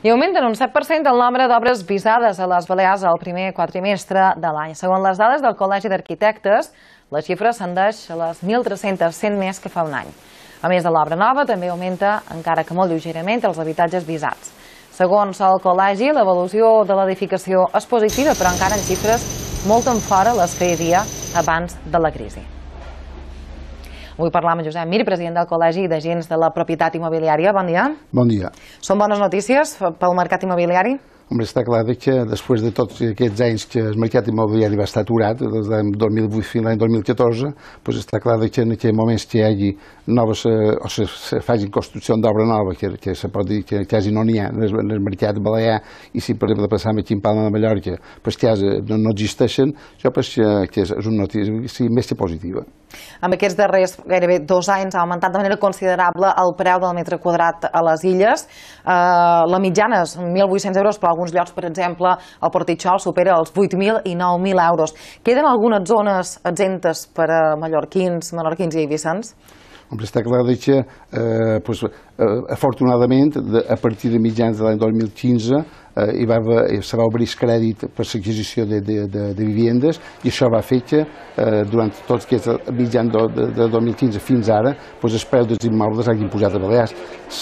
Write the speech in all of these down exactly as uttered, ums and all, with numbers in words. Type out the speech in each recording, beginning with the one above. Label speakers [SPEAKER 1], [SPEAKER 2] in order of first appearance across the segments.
[SPEAKER 1] I augmenten un set per cent el nombre d'obres visades a les Balears al primer quatrimestre de l'any. Segons les dades del Col·legi d'Arquitectes, la xifra ascendeix a les mil tres-cents, cent més que fa un any. A més de l'obra nova, també augmenta, encara que molt lleugerament, els habitatges visats. Segons el Col·legi, l'evolució de l'edificació és positiva, però encara en xifres molt en fora les que hi havia abans de la crisi. Avui parlam amb Josep Mir, president del Col·legi d'Agents de la Propietat Immobiliària. Bon dia.
[SPEAKER 2] Bon dia.
[SPEAKER 1] Són bones notícies pel mercat immobiliari?
[SPEAKER 2] Home, està clar que després de tots aquests anys que el mercat immobiliari va estar aturat, des de dos mil vuit fins l'any dos mil catorze, doncs està clar que en aquells moments que hi hagi noves, o se facin construcció d'obra nova, que, que se pot dir que quasi no n'hi ha en el mercat balear, i si per exemple passam aquí en Palma de Mallorca, doncs quasi no, no existeixen, això pues, que és una notícia més que positiva.
[SPEAKER 1] En aquests darrers gairebé dos anys ha augmentat de manera considerable el preu del metre quadrat a les illes. Eh, la mitjana és mil vuit-cents euros, però alguns llocs, per exemple, el Portitxol supera els vuit mil i nou mil euros. Queden algunes zones exemptes per a mallorquins, menorquins i eivissans?
[SPEAKER 2] Està clar que, eh, pues, eh, afortunadament, de, a partir de mitjans de l'any dos mil quinze eh, hi va, se va obrir crèdit per l'adquisició de, de, de, de vivendes, i això va fer que eh, durant tots aquests mitjans de, de, de dos mil quinze fins ara pues, el preu dels immobles hagin pujat a Balears.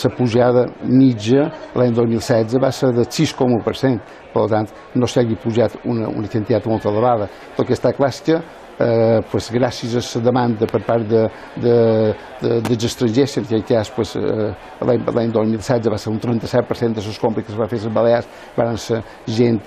[SPEAKER 2] La pujada mitja l'any dos mil setze va ser de sis coma u per cent, per tant no s'hagi pujat una, una quantitat molt elevada. El que està clar és que Eh, pues, gràcies a la demanda per part de, de, de, dels estrangers, en aquest cas pues, eh, l'any dos mil setze va ser un trenta-set per cent de les compres que es va fer a les Balears van ser gent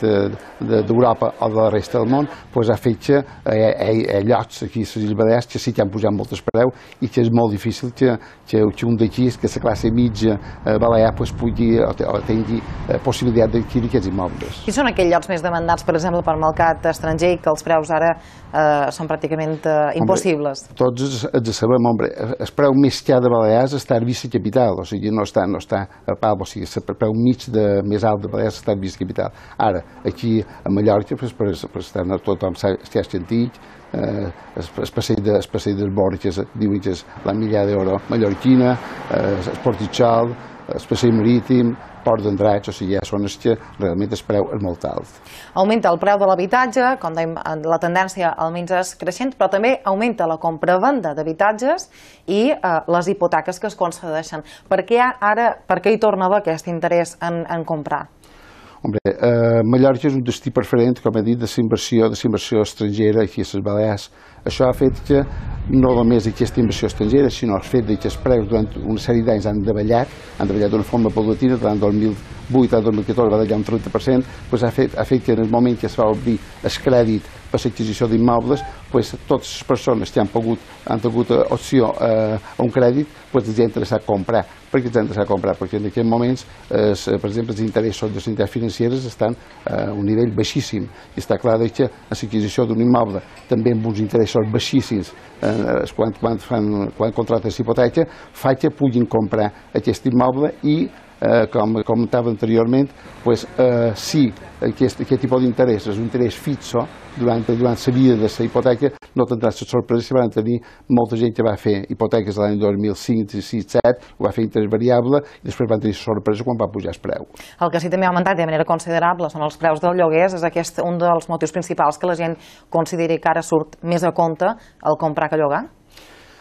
[SPEAKER 2] d'Europa o de la resta del món, pues, ha fet que hi ha, hi ha llocs aquí a les Balears que sí que han pujat molt el preu i que és molt difícil que, que, que un d'aquí, que la classe mitja eh, balear pues, pugui o, o tingui eh, possibilitat d'adquirir aquests immobles.
[SPEAKER 1] Quins són aquells llocs més demandats, per exemple, pel mercat estranger i que els preus ara eh, són pràcticament eh, impossibles?
[SPEAKER 2] Hombre, tots els de sabem, hombre, el preu més car de Balears està a Eivissa Capital, o sigui, no està, no està a Palma, o sigui, el preu mig de, més alt de Balears està a Eivissa Capital. Ara, aquí a Mallorca, pues, per, per estar tothom està sentit, eh, el passeig de, dels Borges, diuen que és la milla d'euro mallorquina, eh, el Portitxol, el passeig marítim, Port d'Andratx, o sigui, ja són els que realment el preu és molt alt.
[SPEAKER 1] Augmenta el preu de l'habitatge, com dèiem, la tendència almenys és creixent, però també augmenta la compra-venda d'habitatges i eh, les hipoteques que es concedeixen. Per què ara, per què hi torna a haver aquest interès en, en comprar?
[SPEAKER 2] Hombre, eh, Mallorca és un destí preferent, com he dit, de la inversió, de la inversió estrangera aquí a les Balears. Això ha fet que no només aquesta inversió estrangera, sinó el fet que els preus durant una sèrie d'anys han davallat, han davallat d'una forma paulatina, durant dos mil vuit a dos mil catorze va dallar un trenta per cent, doncs ha, fet, ha fet que en el moment que es va obrir el crèdit per l'adquisició d'immobles, doncs totes les persones que han pogut, han tingut opció a, a un crèdit, doncs els ha interessat comprar. Per què els ha interessat comprar? Perquè en aquests moments, eh, per exemple, els interessos de les entitats financeres estan a un nivell baixíssim. I està clar que l'adquisició d'un immoble, també amb uns interessos baixíssims, eh, quan, quan, fan, quan contracten hipoteca, fa que puguin comprar aquest immoble i Eh, com comentava anteriorment, pues, eh, si aquest, aquest tipus d'interès és un interès fixo durant, durant la vida de la hipoteca, no tindrà la sorpresa si van tenir molta gent que va fer hipoteques l'any dos mil cinc, sis, set, ho va fer interès variable i després van tenir sorpresa quan va pujar el preu.
[SPEAKER 1] El que sí també ha augmentat de manera considerable són els preus dels lloguers, és aquest un dels motius principals que la gent consideri que ara surt més a compte el comprar que llogar?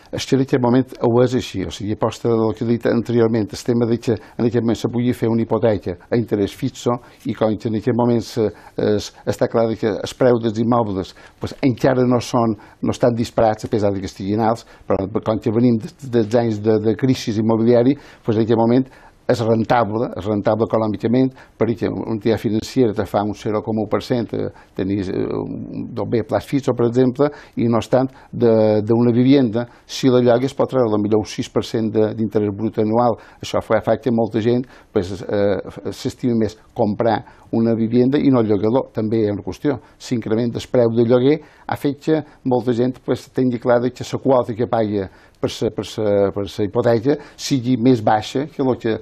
[SPEAKER 2] És que en aquest moment ho és així, o sigui, aposta del que he dit anteriorment, el tema que en aquest moment se pugui fer una hipoteca a interès fixo i com que en aquest moment es, està clar que els preus dels immobles pues, encara no, són, no estan disparats a pesar que estiguin alts, però com que venim dels anys de, de crisi immobiliari, pues, en aquest moment és rentable, és rentable econòmicament, perquè una entitat financera te fa un zero coma u per cent, tenir un bé a plaç fix, per exemple, i no obstant d'una vivenda, si la llogues pot treure potser un sis per cent d'interès brut anual. Això fa que molta gent s'estimi més comprar una vivenda i no el llogador. També hi ha una qüestió. S'incrementa el preu de lloguer, ha fet que molta gent tingui clar que la quota que paga per la hipoteca sigui més baixa que el que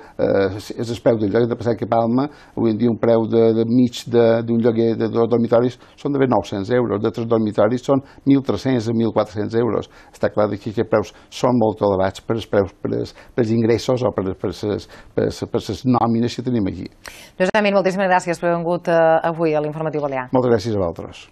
[SPEAKER 2] és el preu del lloguer de Passeig a Palma. Avui en dia un preu de mig d'un lloguer de dos dormitoris són d'haver nou-cents euros, de tres dormitoris són mil tres-cents a mil quatre-cents euros. Està clar que aquests preus són molt elevats per els preus, per els ingressos o per les nòmines que tenim aquí.
[SPEAKER 1] Josep Mir, moltíssimes gràcies per haver vingut avui a l'Informatiu Balear.
[SPEAKER 2] Moltes gràcies a vosaltres.